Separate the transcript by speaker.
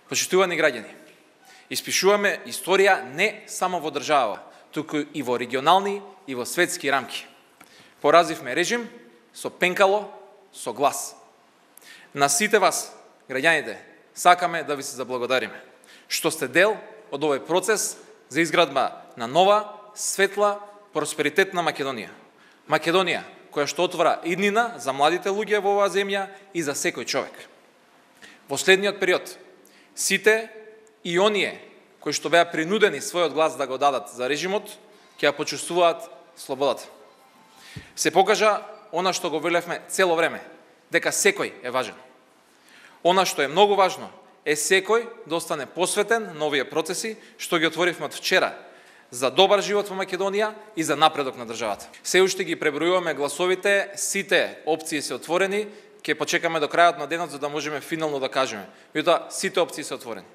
Speaker 1: Почитувани граѓани, испишуваме историја не само во држава, туку и во регионални и во светски рамки. Поразивме режим со пенкало, со глас. На сите вас, граѓаните, сакаме да ви се заблагодариме, што сте дел од овој процес за изградба на нова, светла, просперитетна Македонија. Македонија, која што отвора иднина за младите луѓе во оваа земја и за секој човек. Во следниот период, сите и оние кои што беа принудени својот глас да го дадат за режимот, ќе ја почувствуваат слободата. Се покажа она што го велевме цело време, дека секој е важен. Она што е многу важно е секој да остане посветен на овие процеси што ги отворивме од вчера за добар живот во Македонија и за напредок на државата. Се уште ги пребројуваме гласовите, сите опции се отворени, ќе почекаме до крајот на денот за да можеме финално да кажеме. Меѓутоа, сите опции се отворени.